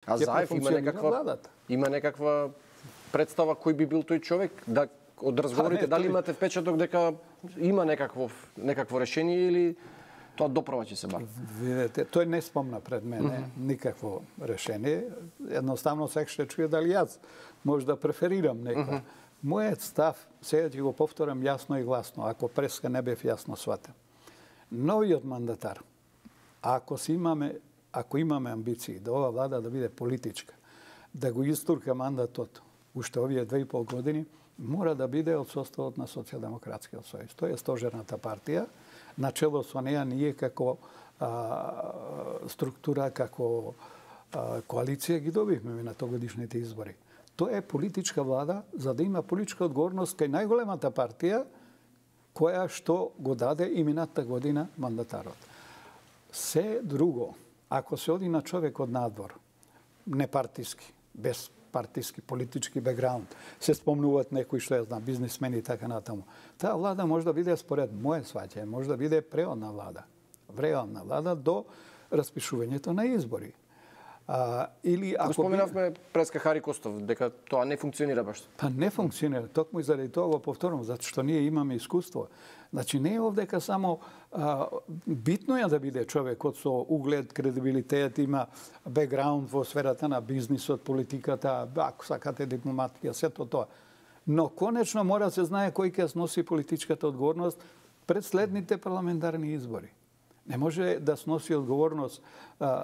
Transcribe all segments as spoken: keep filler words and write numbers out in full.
А Заев има некаква, има некаква представа кој би бил тој човек? Да, од разговорите, дали имате впечаток дека има некакво, некакво решение или тоа доправа ќе се бар? Видете, тој не спомна пред мене mm -hmm. никакво решение. Едноставно сек ще чуе дали јас може да преферирам некој. Mm -hmm. Мојот став, сега ќе го повторам јасно и гласно, ако преска не бев јасно сватен. Новиот мандатар, ако си имаме, ако имаме амбиции да ова влада да биде политичка, да го истурка мандатот уште овие две и пол години, мора да биде од составот на Социјалдемократскиот сојуз. Тој е стожерната партија. Начело со неја ние како а, структура, како а, коалиција ги добивме минато годишните избори. Тоа е политичка влада за да има политичка одговорност кај најголемата партија која што го даде и минатата година мандатарот. Се друго, ако се оди на човек од надвор, непартиски, без партиски, политички бекграунд, се спомнуваат некои што ја знам, бизнисмени и така натаму. Таа влада може да биде според моје сваќање, може да биде преодна влада, вреодна влада до распишувањето на избори. А, или ако споменавме преска Хари Костов дека тоа не функционира баш. Па не функционира, токму и заради тоа го повторувам, затоа што ние имаме искуство. Значи не е овдека само а, битно е да биде човекот со углед, кредибилитет, има бекграунд во сферата на бизнисот, политиката, ако сакате дипломатија, сето тоа. Но конечно мора да се знае кој ќе сноси политичката одговорност пред следните парламентарни избори. Не може да сноси одговорност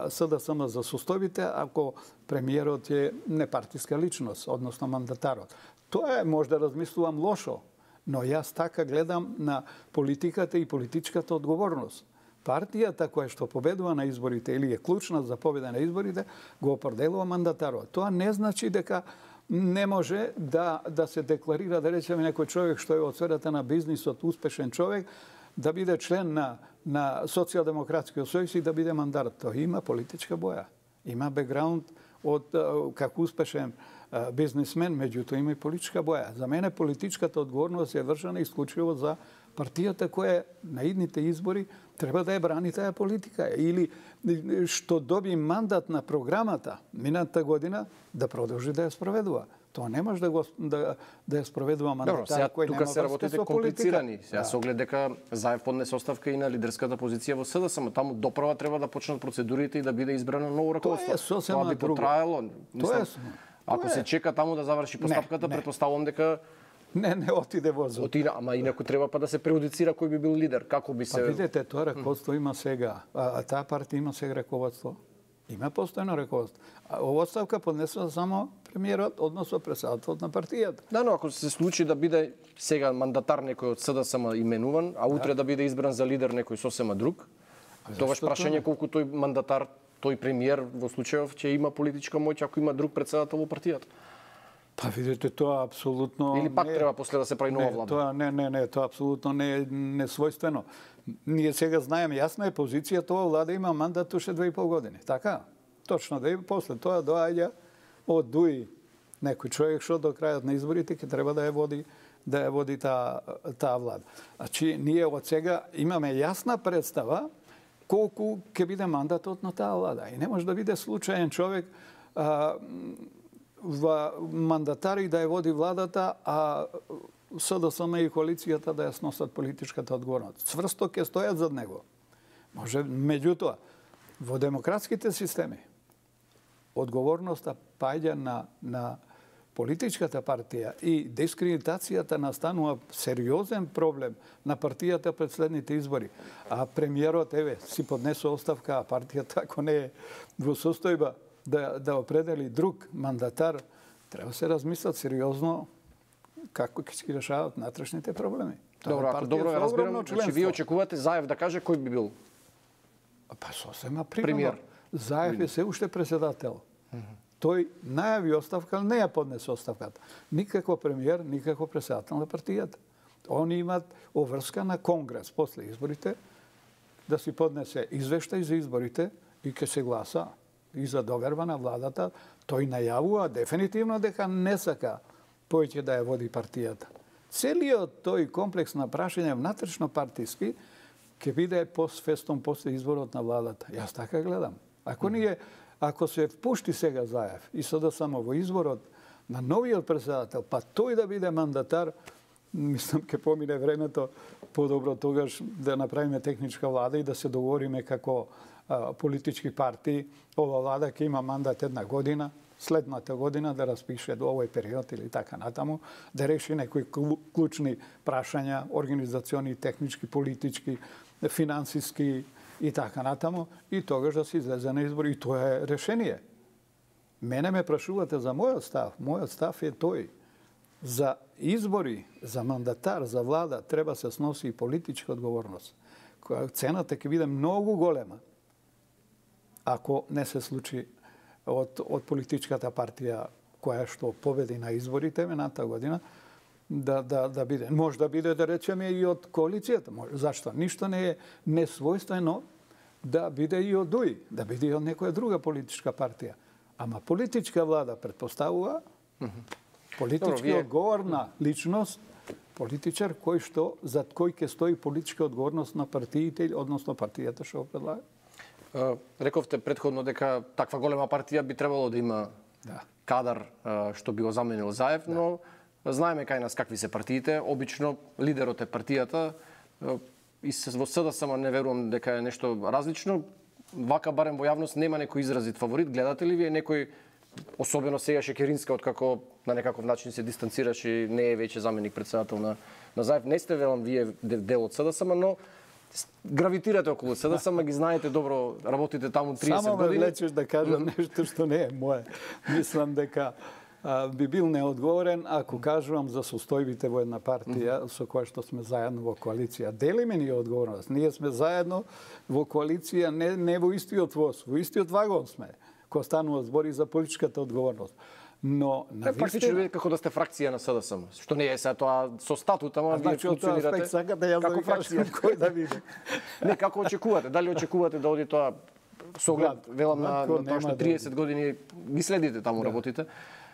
СДСМ за состојбите ако премиерот е непартиска личност, односно мандатарот. Тоа е, може да размислувам лошо, но јас така гледам на политиката и политичката одговорност. Партијата која што победува на изборите или е клучна за победа на изборите, го определува мандатарот. Тоа не значи дека не може да, да се декларира, да речеме, некој човек што е од сферата на бизнисот, успешен човек, да биде член на, на Социјалдемократскиот сојуз и да биде мандатар. Тоа има политичка боја. Има бекграунд од како успешен бизнисмен, меѓутоа има и политичка боја. За мене политичката одговорност е вршена исклучиво за партијата која на идните избори треба да ја брани таа политика или што доби мандат на програмата минатата година да продолжи да ја спроведува. Тоа не може да го да да ја спроведува мандатар кој нема тука се работите комплицирани. Сега со оглед дека Заев поднесе оставка и на лидерската позиција во СДСМ, таму доправа треба да почнат процедурите и да биде избрано ново раководство. Тоа би потраело. Тоа е Ако се чека таму да заврши постапката, претпоставувам дека не, не отиде возот. Отиде, ама инаку треба па да се преудицира кој би бил лидер, како би се... Па видете, тоа раководство има сега, а, а таа партија има сега раководство. Има постојано раководство. А ова оставка поднесува само премиерот, односно председателот на партијата. Да, но ако се случи да биде сега мандатар некој од СДСМ именуван, а утре да, да биде избран за лидер некој сосема друг, тогаш прашање колку тој мандатар, тој премиер во случајов ќе има политичка моќ ако има друг председател во партијата. Па видите, тоа апсолутно... Или пак не, треба после да се прави нова влада? Тоа, не, не, не, тоа апсолутно не е несвојствено. Ние сега знаеме, јасна е позиција, тоа влада има мандат уште две и пол години. Така? Точно, да и после тоа доаѓа од Дуи некој човек што до крајот на изборите ќе треба да ја води да ја води таа таа влада. Значи, ние од сега имаме јасна представа колку ќе биде мандатот на таа влада. И не може да биде случаен човек а, во мандатари да ја води владата, а СДСМ и коалицијата да ја сносат политичката одговорност. Цврсто ќе стојат зад него. Може, меѓутоа, во демократските системи одговорноста паѓа на, на политичката партија и дискредитацијата настанува сериозен проблем на партијата пред следните избори. А премиерот, еве, си поднесе оставка, а партијата, ако не е во состојба да, да определи друг мандатар, треба се размислат сериозно како ќе се решават натрешните проблеми. Добро, ако добро ја разбирам, значи вие очекувате Заев да каже кој би бил? Па сосема пример. Заев е се уште председател. Тој најави оставка, не ја поднесе оставката. Никако премиер, никако председател на партијата. Они имат оврска на Конгрес после изборите да си поднесе извештај за изборите и ќе се гласа и за доверба на владата. Тој најавува дефинитивно дека не сака повеќе да ја води партијата. Целиот тој комплекс на прашање внатрешно партиски ќе биде постфестом после изборот на владата. Јас така гледам. Ако ние Ако се впушти сега Заев и sada само во изборот на новиот председател, па тој да биде мандатар, мислам ке помине времето, подобро тогаш да направиме техничка влада и да се договориме како а, политички партии. Ова влада ќе има мандат една година, следната година да распише до овој период или така натаму, да реши некои клучни прашања, организациони, технички, политички, финансиски и така натаму, и тогаш да се излезе на избори. И тоа е решение. Мене ме прашувате за мојот став. Мојот став е тој. За избори, за мандатар, за влада треба се сноси и политичка одговорност. Цената ќе биде многу голема ако не се случи од, од политичката партија која што победи на изборите минатата година, да, да, да биде. Може да биде, да речеме, и од коалицијата. Може. Зашто? Ништо не е несвојствено да биде и од ДУИ, да биде и од некоја друга политичка партија. Ама политичка влада предпоставува политички Добро, одговорна личност, политичар кој што, зад кој ќе стои политичка одговорност на партиите, односно партијата што го предлага. Рековте предходно дека таква голема партија би требало да има да. кадар што би го заменил Заев, да. но знаеме кај нас какви се партиите. Обично лидерот е партијата и во СДСМ не верувам дека е нешто различно. Вака барем во јавност нема некој изразит фаворит. Гледате ли вие некој, особено сега Шекеринска, откако на некаков начин се дистанцираше и не е веќе заменик председател на, на Заев. Не сте велам вие дел од СДСМ, но гравитирате околу СДСМ, ги знаете добро, работите таму триесет Само години. Само ме влечеш да кажам нешто што не е мое. Мислам дека а, би бил неодговорен ако кажувам за состојбите во една партија mm -hmm. со која што сме заедно во коалиција. Делиме ни одговорност. Ние сме заедно во коалиција, не, не во истиот воз, во истиот вагон сме, кога станува збори за политичката одговорност. Но на практично како да сте фракција на СДСМ, што не е сега тоа со статут, ама вие функционирате сакате јас како фракција, кој да биде. Не, како очекувате? Дали очекувате да оди тоа со оглед, велам на тоа што триесет години ги следите таму, да. работите?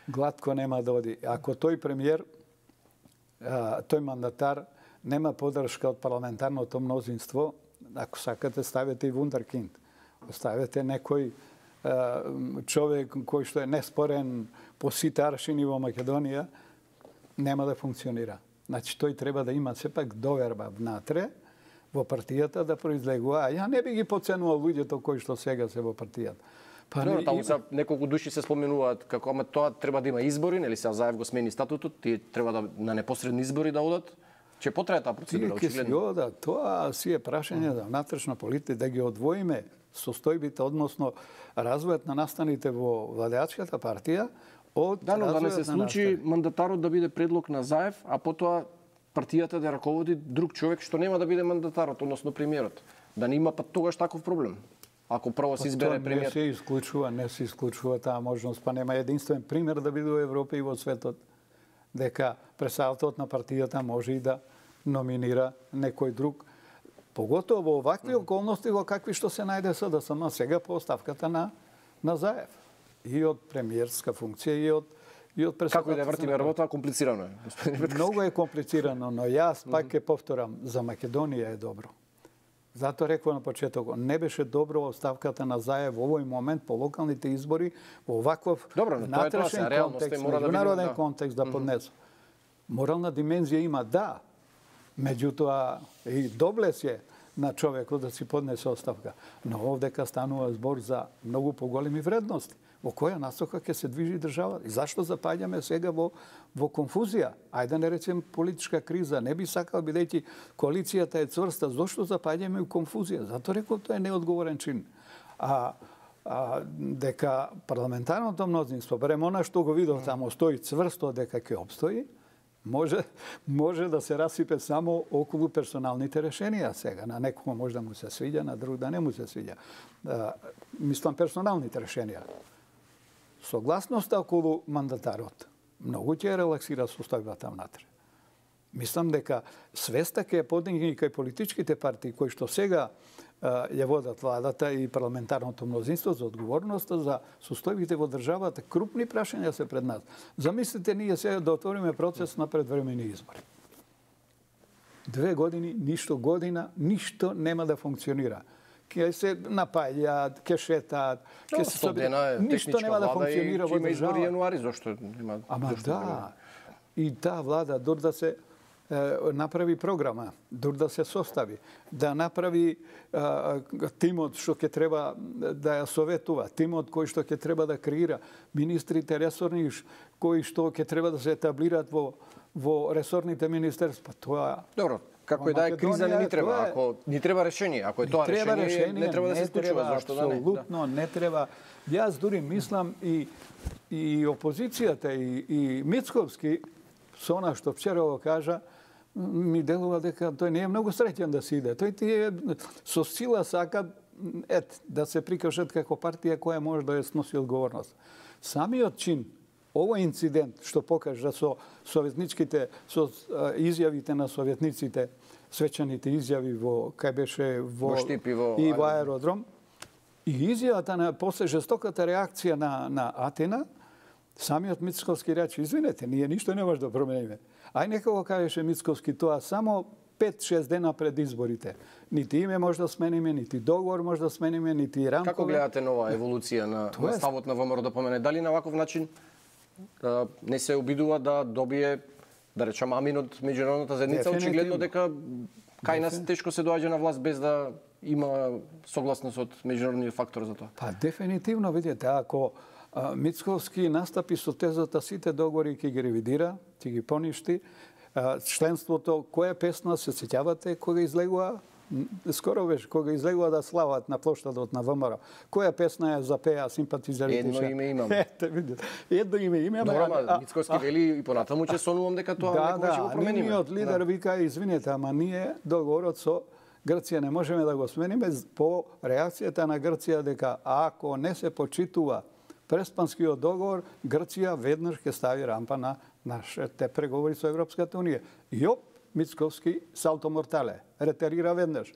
Гладко нема да оди. Ако тој премиер, тој мандатар нема поддршка од парламентарното мнозинство, ако сакате ставете и вундеркинд, оставете некој човек кој што е неспорен по сите аршини во Македонија, нема да функционира. Значи, тој треба да има сепак доверба внатре во партијата да произлегува. А ја не би ги поценувал луѓето кои што сега се во партијата. Па не, таму са неколку души се споменуваат како ама тоа треба да има избори, нели сега Заев го смени статутот, тие треба да на непосредни избори да одат. Че потрае таа процедура очигледно. Да, тоа си е прашање за внатрешна политика, да ги одвоиме состојбите, односно развојот на настаните во владеачката партија од да, но да не се случи мандатарот да биде предлог на Заев, а потоа партијата да раководи друг човек што нема да биде мандатарот, односно премиерот. Да не има па тогаш таков проблем. Ако прво се избере премиер. Не се исклучува, не се исклучува таа можност, па нема единствен пример да биде во Европа и во светот дека председателот на партијата може и да номинира некој друг. Поготово во овакви околности во какви што се најде СДСМ сега по оставката на на Заев. И од премиерска функција и од и од председател. Како и да вртиме работа, комплицирано е, господин Петков. Многу е комплицирано, но јас пак ќе повторам, за Македонија е добро. Затоа реков на почетокот, не беше добро оставката на Заев во овој момент по локалните избори во оваков внатрешен контекст, меѓународен да. контекст да поднесу. Морална димензија има, да, меѓутоа и доблес е на човекот да си поднесе оставка. Но овдека станува збор за многу поголеми вредности. Во која насока ќе се движи државата? И зашто запаѓаме сега во, во конфузија? Ајде не речем политичка криза. Не би сакал, бидејќи коалицијата е цврста. Зошто запаѓаме у конфузија? Зато рекол тоа е неодговорен чин. А, а дека парламентарното мнозинство, барем она што го видов тамо, стои цврсто дека ќе обстои, може, може да се расипе само околу персоналните решенија сега. На некој може да му се свиѓа, на друг да не му се свиѓа. А, мислам персоналните решенија. Согласноста околу мандатарот многу ќе релаксира состојбата внатре. Мислам дека свеста ќе подигне и кај политичките партии кои што сега ја водат владата и парламентарното мнозинство за одговорноста за состојбите во државата. Крупни прашања се пред нас. Замислите ние сега да отвориме процес на предвремени избори. Две години, ништо година, ништо нема да функционира. ќе се напаѓаат, ќе шетаат, ќе се сто дена е ништо нема да функционира во држава. Има избори држава. јануари, зошто нема? Ама да, и таа влада дур да се е, направи програма, дур да се состави, да направи а, тимот што ќе треба да ја советува, тимот кој што ќе треба да креира, министрите ресорни кои што ќе треба да се етаблираат во во ресорните министерства. Тоа Добро, како и да е криза не ни треба, е... ако ни треба решение, ако е тоа решение, решение, не треба да се случува, зашто да не? Апсолутно не треба. Јас дури мислам и и опозицијата и и Мицковски со она што вчера го кажа, ми делува дека тој не е многу среќен да се иде. Тој ти е со сила сака ет да се прикажат како партија која може да ја сноси одговорност. Самиот чин, овој инцидент што покажа со советничките, со изјавите на советниците, свечаните изјави во кај беше во, во Штипи, во и во аеродром, и изјавата на после жестоката реакција на на Атина, самиот Мицковски рече, извинете, ние ништо не може да промениме. Ај нека го кажеше Мицковски тоа само пет-шест дена пред изборите. Нити име може да смениме, нити договор може да смениме, нити рамкове. Како гледате нова еволуција на, на ставот на ВМРО да помене? Дали на ваков начин а, не се обидува да добие, да речам, амин од меѓународната заедница, очигледно дека кај нас тешко се доаѓа на власт без да има согласност од меѓународниот фактор за тоа? Па дефинитивно, видите, ако а, Мицковски настапи со тезата сите договори ќе ги ревидира, ќе ги поништи, а, членството, која песна се сеќавате кога излегува? Скоро беше, кога излегува да слават на плоштадот на ВМРО. Која песна е запеа симпатизерите? Едно име имам. Ете, видите. Едно име имам. Добро, ама Мицковски вели и понатаму че сонувам дека тоа да, некој ќе го да, промениме. нивниот лидер да. вика, извинете, ама ние договорот со Грција не можеме да го смениме по реакцијата на Грција дека ако не се почитува преспанскиот договор, Грција веднаш ќе стави рампа на нашите преговори со Европската унија. И оп, Мицковски салто мортале, ретерира веднаш.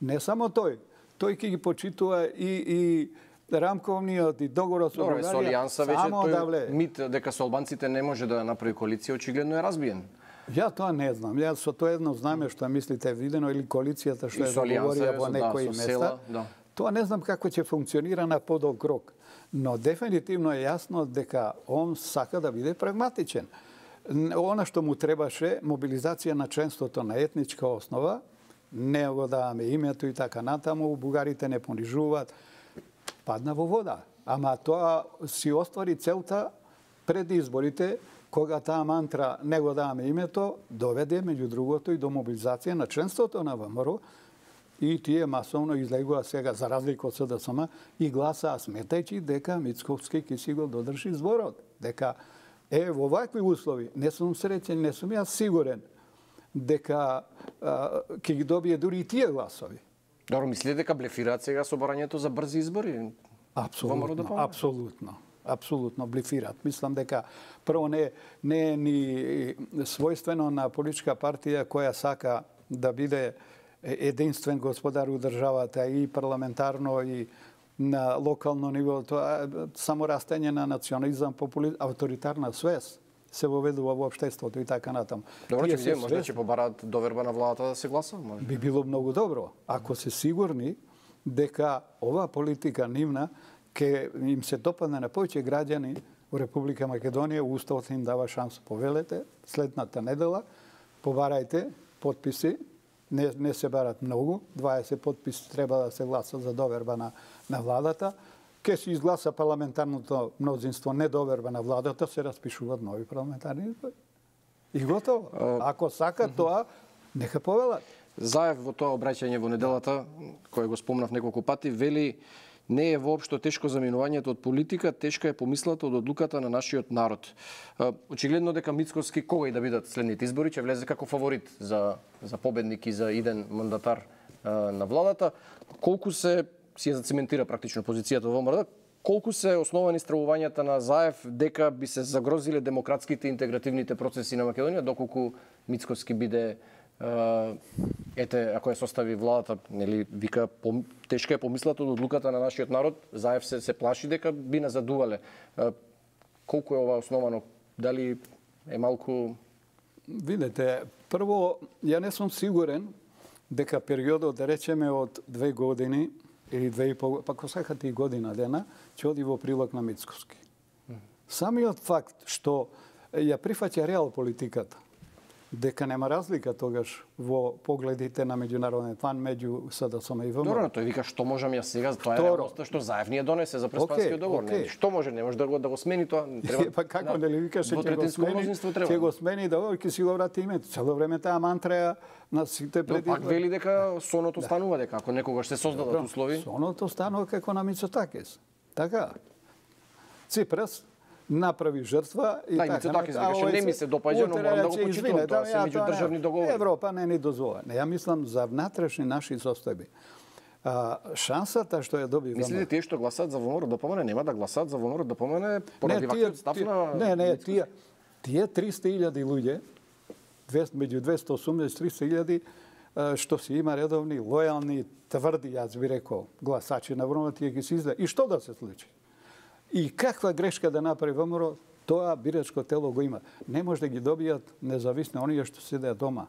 Не само тој, тој ќе ги почитува и, и рамковниот и договорот со Бугарија. Со Алијанса вече тој да вле... мит дека со албанците не може да направи коалиција, очигледно е разбиен. Ја тоа не знам. Ја со тоа едно знаме што мислите видено или коалицијата што е договорија во некои да, места. Села, да. Тоа не знам како ќе функционира на подолг рок. Но дефинитивно е јасно дека он сака да биде прагматичен. Она што му требаше, мобилизација на членството на етничка основа, не го даваме името и така натаму, бугарите не понижуваат, падна во вода. Ама тоа си оствари целта пред изборите, кога таа мантра не го даваме името, доведе, меѓу другото, и до мобилизација на членството на ВМРО, и тие масовно излегува сега, за разлика од СДСМ, и гласаа сметајќи дека Мицковски ќе си го додржи зборот. Дека е, во вакви услови, не сум среќен, не сум јас сигурен дека ќе ги добие дури и тие гласови. Добро, мислите дека блефираат сега со барањето за брзи избори? Апсолутно, апсолутно. Апсолутно блефираат. Мислам дека прво не, не е ни својствено на политичка партија која сака да биде единствен господар у државата и парламентарно и на локално ниво, тоа само растење на национализам, популизам, авторитарна свест се воведува во општеството и така натаму. Добро, ќе видиме, можда ќе побараат доверба на владата да се гласа, може. Би било многу добро, ако се сигурни дека оваа политика нивна ќе им се допадне на повеќе граѓани во Република Македонија, уставот им дава шанс, повелете, следната недела, побарајте потписи, не, не се барат многу, дваесет потписи треба да се гласа за доверба на, на владата, ке се изгласа парламентарното мнозинство недоверба на владата, се распишуваат нови парламентарни избори. И готово. Ако сакат тоа, нека повелат. Заев во тоа обраќање во неделата, кој го спомнав неколку пати, вели не е воопшто тешко заминувањето од политика, тешка е помислата од одлуката на нашиот народ. Очигледно дека Мицковски, кога и да бидат следните избори, ќе влезе како фаворит за, за победник и за иден мандатар на владата. Колку се, си ја зацементира практично позицијата во ВМРО, колку се основани стравувањата на Заев дека би се загрозиле демократските и интегративните процеси на Македонија, доколку Мицковски биде Uh, ете, ако ја состави владата, нели, вика, пом, тешка е помислата од одлуката на нашиот народ, Заев се, се плаши дека би назадувале. Uh, колку е ова основано? Дали е малку... Видете, прво, ја не сум сигурен дека периодот, да речеме, од две години или две и пол, па косаката и година дена, ќе оди во прилог на Мицкоски. Самиот факт што ја прифаќа реал политиката, дека нема разлика тогаш во погледите на меѓународен план меѓу СДСМ и ВМРО. Добро, тој вика што можам јас сега, тоа е реалноста што Заев ни ја донесе за Преспанскиот договор. Okay. Не, што може, не може да го да го смени тоа, треба. Па како да, нели викаше ќе го смени, ќе го смени договор, ќе си го врати името. Цело време таа мантра ја на сите преди. Пак вели дека соното станува дека ако некогаш се создадат услови. Соното станува како на Мицотакис. Така. Ципрас направи жртва и да, така. Да, така викаше, не ми се допаѓа, но морам да го почитувам, тоа се меѓудржавни договори. Европа не ни дозвола. Не, ја мислам за внатрешни наши состојби. А, шансата што ја доби ВМРО. Мислите тие што гласаат за ВМРО да помине, нема да гласаат за ВМРО да помине поради ваквиот став на... Не, не, тие, тие триста илјади луѓе, меѓу двесте и осумдесет и триста илјади, што си има редовни, лојални, тврди, јас би рекол, гласачи на ВМРО, тие ги се изда. И што да се случи? И каква грешка да направи ВМРО, тоа бирачко тело го има. Не може да ги добијат независни оние што седеат дома.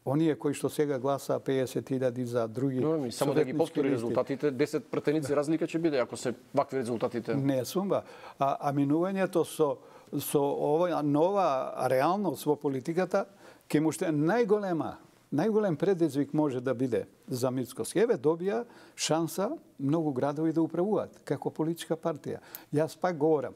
Оние кои што сега гласа песет илјади за други. Но, ми, само да ги повтори резултатите, десет пратеници да. Разлика ќе биде ако се вакви резултатите. Не сумба. А, а минувањето со со ова нова реалност во политиката ќе му што најголема најголем предизвик може да биде за Мицкоски. Еве добија шанса многу градови да управуваат како политичка партија. Јас пак говорам,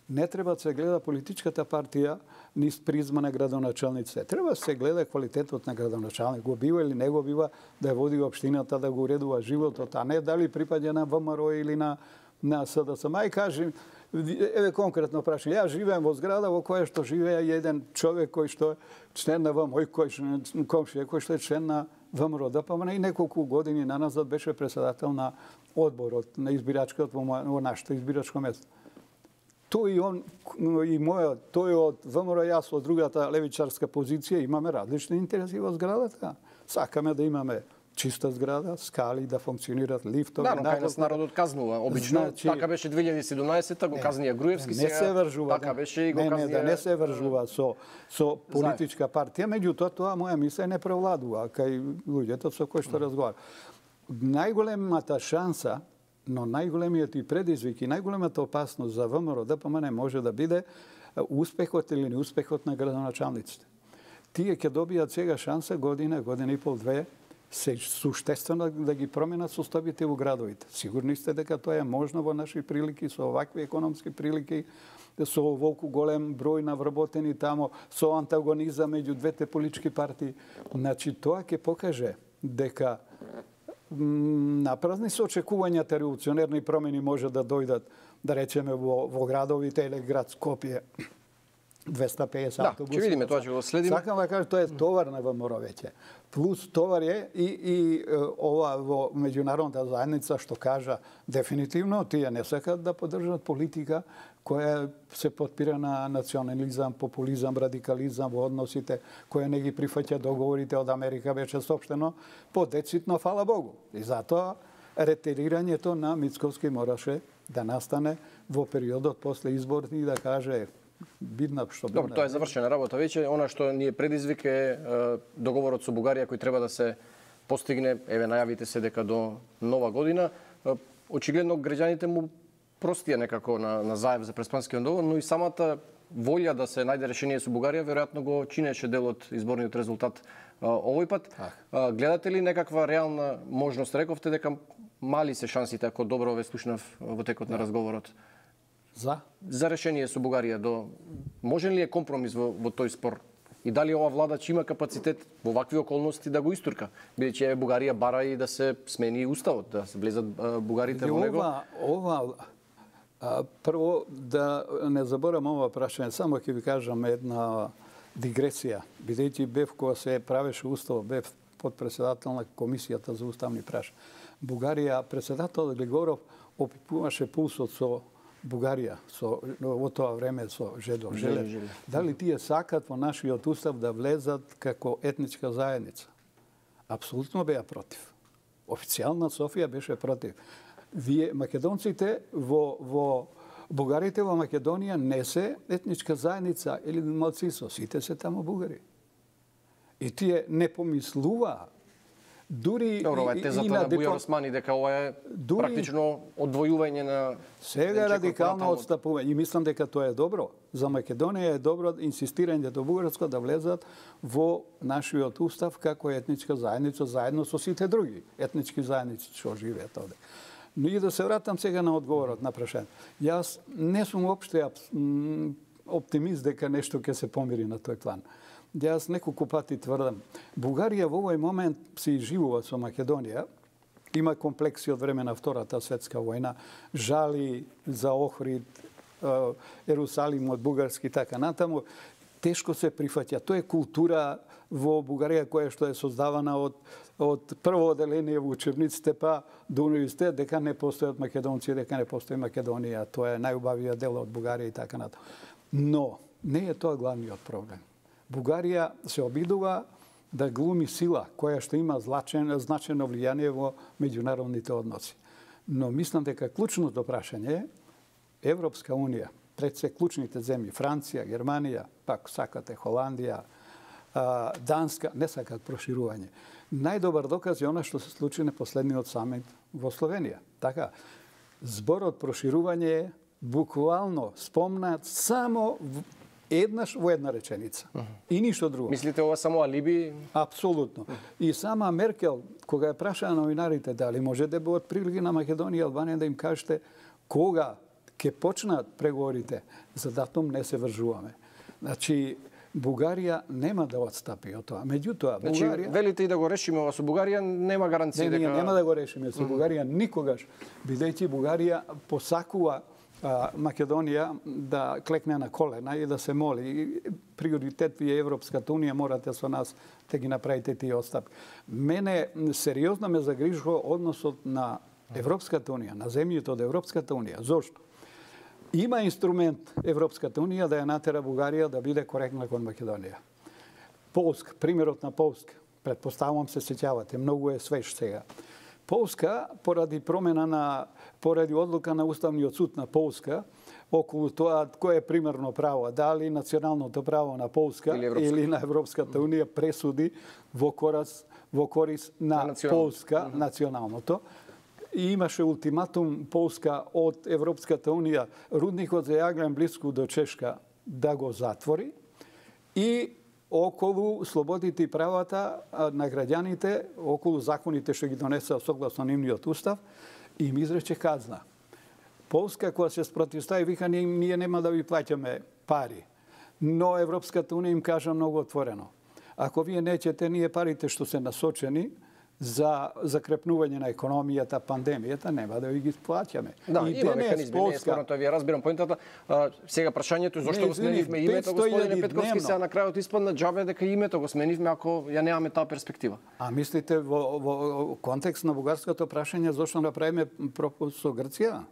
не треба да се гледа политичката партија низ призма на градоначалниците. Треба да се гледа квалитетот на градоначалник. Го бива или не го бива да ја води општината, да го уредува животот, а не дали припаѓа на ВМРО или на на СДСМ. Ај кажи, еве конкретно прашање. Ја живеем во зграда во која што живее еден човек кој што е член на ВМРО, кој што комшија кој што е член на ВМРО ДПМН и неколку години наназад беше председател на одборот на избирачкиот во, во нашето избирачко место. Тој и он и мојот, тој од ВМРО, јас од другата левичарска позиција имаме различни интереси во зградата. Сакаме да имаме чиста зграда, скали да функционират лифтови. Да, но кај нас народот казнува. Обично значи, така беше две илјади и седумнаесета, го казнија Груевски, не се вржува. Така беше и го не, казнија. Не, да не се вржува со со политичка партија, меѓутоа тоа моја мисла не превладува кај луѓето со кои што разговара. Најголемата шанса, но најголемиот и предизвик и најголемата опасност за ВМРО ДПМН може да биде успехот или неуспехот на градоначалниците. Тие ќе добијат сега шанса година, година и пол, две, се суштествено да ги променат состојбите во градовите. Сигурни сте дека тоа е можно во наши прилики, со овакви економски прилики, со оволку голем број на вработени тамо, со антагонизам меѓу двете политички партии. Значи, тоа ќе покаже дека напразни се очекувањата револуционерни промени може да дојдат, да речеме, во, во градовите или град Скопје, двесте и песет да, автобуси. Ќе видиме тоа, ќе го следиме. Сакам да кажам, тоа е товар на ВМРО веќе. Плюс товар е и, и ова во меѓународната заедница што кажа дефинитивно тие не сакат да поддржат политика која се потпира на национализам, популизам, радикализам во односите, која не ги прифаќа договорите од Америка, беше соопштено подецитно, фала Богу. И затоа ретирирањето на Мицкоски мораше да настане во периодот после изборите и да каже бидна што бидна. Добро, тоа е завршена работа веќе. Она што ни е предизвик е договорот со Бугарија кој треба да се постигне, еве најавите се дека до нова година. Очигледно граѓаните му простија некако на, на Заев за Преспанскиот договор, но и самата волја да се најде решение со Бугарија веројатно го чинеше дел од изборниот резултат овој пат. А, гледате ли некаква реална можност? Рековте дека мали се шансите, ако добро ве слушнав во текот на разговорот. За? За решение со Бугарија до можен ли е компромис во, во тој спор? И дали ова владач има капацитет во вакви околности да го истурка? Бидејќи Бугарија бара и да се смени уставот, да се влезат бугарите во него. Ова, ова а, прво да не заборам ова прашање, само ќе ви кажам една дигресија. Бидејќи бев кога се правеше устав, бев подпредседател на комисијата за уставни прашања. Бугарија, председател Глигоров опипуваше пулсот со Бугарија со во тоа време со Жедо Желев. Дали тие сакат во нашиот устав да влезат како етничка заедница? Апсолутно беа против. Официјална Софија беше против. Вие македонците во во бугарите во Македонија не се етничка заедница или малцинство, сите се тамо бугари. И тие не помислуваа Дури Добро, ова е и тезата на на Бујар диплом- Османи дека ова е Дури- практично одвојување на Сега е Денче радикално Корпоративно. одстапување и мислам дека тоа е добро. За Македонија е добро инсистирањето Бугарска да влезат во нашиот устав како етничка заедница заедно со сите други етнички заедници што живеат овде. Но и да се вратам сега на одговорот на прашањето. Јас не сум опште абс- м, оптимист дека нешто ќе се помири на тој план. Јас неколку пати тврдам, Бугарија во овој момент се изживува со Македонија, има комплекси од време на Втората светска војна, жали за Охрид, е, Ерусалим од бугарски и така натаму, тешко се прифаќа. Тоа е култура во Бугарија која што е создавана од од прво оделение во учебниците па до универзитет дека не постојат македонци, дека не постои Македонија. Тоа е најубавиот дел од Бугарија и така натаму. Но не е тоа главниот проблем. Бугарија се обидува да глуми сила која што има значено, значено влијание во меѓународните односи. Но мислам дека клучното прашање е Европска унија, пред се клучните земји, Франција, Германија, пак сакате Холандија, Данска, не сакат проширување. Најдобар доказ е она што се случи на последниот самит во Словенија. Така, зборот проширување е буквално спомнат само еднаш во една реченица. Uh -huh. И ништо друго. Мислите ова само алиби? Апсолутно. Uh -huh. И сама Меркел, кога ја прашаа новинарите дали може да бидат прилики на Македонија и Албанија да им кажете кога ќе почнат преговорите, за датум не се вржуваме. Значи, Бугарија нема да отстапи од тоа. Меѓутоа, значи, Бугарија... велите и да го решиме ова со Бугарија, нема гаранција не, дека... Не, нема да го решиме со Бугарија никогаш, бидејќи Бугарија посакува а, Македонија да клекне на колена и да се моли. И приоритет ви е Европската унија, морате со нас да ги направите тие отстапки. Мене сериозно ме загрижува односот на Европската унија, на земјите од Европската унија. Зошто? Има инструмент Европската унија да ја натера Бугарија да биде коректна кон Македонија. Полска, примерот на Полска, предпоставувам се сеќавате, многу е свеж сега. Полска, поради промена на, поради одлука на Уставниот суд на Полска, околу тоа кој е примерно право, дали националното право на Полска или, или на Европската унија пресуди во корис, во корис на, на Полска, mm -hmm. националното. И имаше ултиматум Полска од Европската унија рудникот за јаглен блиску до Чешка да го затвори и околу слободите и правата на граѓаните, околу законите што ги донесаа согласно нивниот устав, им изрече казна. Полска која се спротивстави вика ние, ние нема да ви плаќаме пари. Но Европската унија им кажа многу отворено. Ако вие неќете, ние парите што се насочени за закрепнување на економијата, пандемијата, нема да ви ги плаќаме. Да, и има механизми, не е спорно тоа, вие разбирам поентата. Сега прашањето зошто го сменивме името, господине Петковски, сега на крајот испадна џабе дека името го сменивме ако ја немаме таа перспектива. А мислите во, во контекст на бугарското прашање зошто направиме пропус со Грција?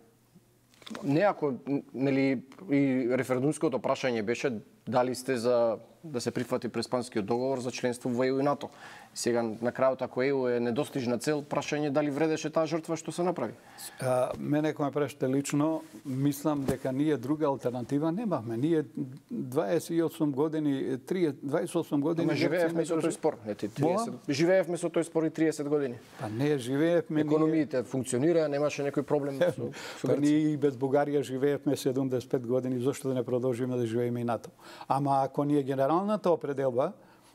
Не, ако нели и референдумското прашање беше дали сте за да се прифати Преспанскиот договор за членство во Е У и НАТО. Сега на крајот ако Е У е недостижна цел, прашање дали вредеше таа жртва што се направи. А, мене кога ме прашате лично, мислам дека ние друга алтернатива немавме. Ние дваесет и осум години, дваесет и осум години... Ама живеевме со тој спор. Ети, триесет Живеевме со тој спор и триесет години. Па не, живеевме... Економиите функционираа, немаше некој проблем со, со Па ние и без Бугарија живеевме седумдесет и пет години, зошто да не продолжиме да живееме и НАТО? Ама ако ние генералната определба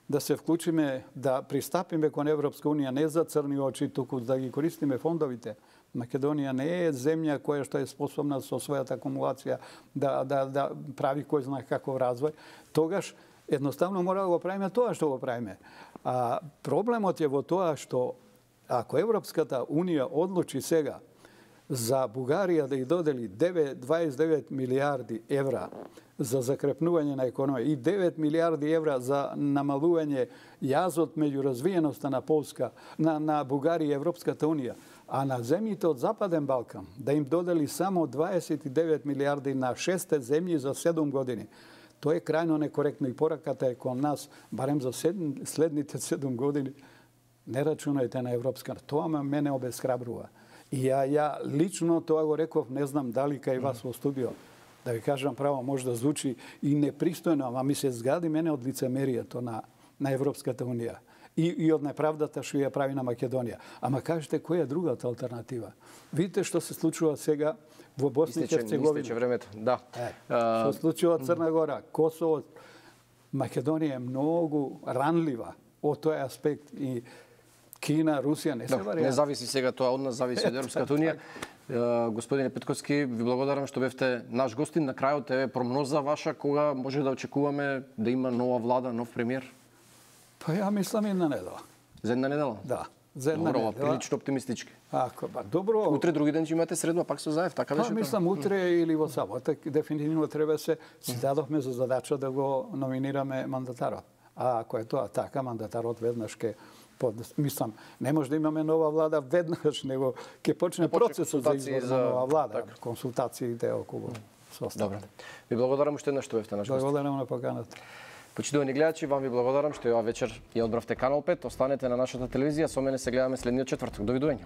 да се вклучиме, да пристапиме кон Европска унија не за црни очи, туку да ги користиме фондовите. Македонија не е земја која што е способна со својата акумулација да, да, да прави кој знае каков развој. Тогаш едноставно мора да го правиме тоа што го правиме. А проблемот е во тоа што ако Европската унија одлучи сега за Бугарија да ја додели дваесет и девет милијарди евра за закрепнување на економија и девет милијарди евра за намалување јазот меѓу развиеноста на Полска, на, на Бугарија и Европската унија, а на земјите од Западен Балкан да им додели само дваесет и девет милијарди на шесте земји за седум години. Тоа е крајно некоректно и пораката е кон нас, барем за седм, следните седум години, не рачунајте на Европска. Тоа мене обесхрабрува. И ја, ја лично тоа го реков, не знам дали кај вас во студио, да ви кажам право, може да звучи и непристојно, ама ми се згади мене од лицемерието на, на Европската унија. и, и од неправдата што ја прави на Македонија. Ама кажете, која е другата алтернатива? Видите што се случува сега во Босна и Херцеговина. Истече времето, да. Е, што се случува од Црна Гора, Косово, Македонија е многу ранлива од тој аспект и Кина, Русија не се да, варијант. Не зависи сега тоа од нас, зависи од Европската унија. Господине Петковски, ви благодарам што бевте наш гостин. На крајот е прогноза ваша кога може да очекуваме да има нова влада, нов премиер? Па ја мислам една недела. За една недела? Да. За една Добро, недела. прилично оптимистички. Ако, ба, добро. Утре други ден ќе имате средба, пак со Заев, така беше? Па мислам утре или во сабота, дефинитивно треба се си дадовме за задача да го номинираме мандатарот. А ако е тоа така, мандатарот веднаш ке под, мислам, не може да имаме нова влада веднаш, него ќе почне процесот за избор на нова влада, так. Консултациите околу составот. Добро. Ви благодарам уште еднаш што бевте наш гост. Благодарам на поканата. Почитувани гледачи, вам ви благодарам што ја вечер ја одбравте Канал пет. Останете на нашата телевизија, со мене се гледаме следниот четврток. Довидување.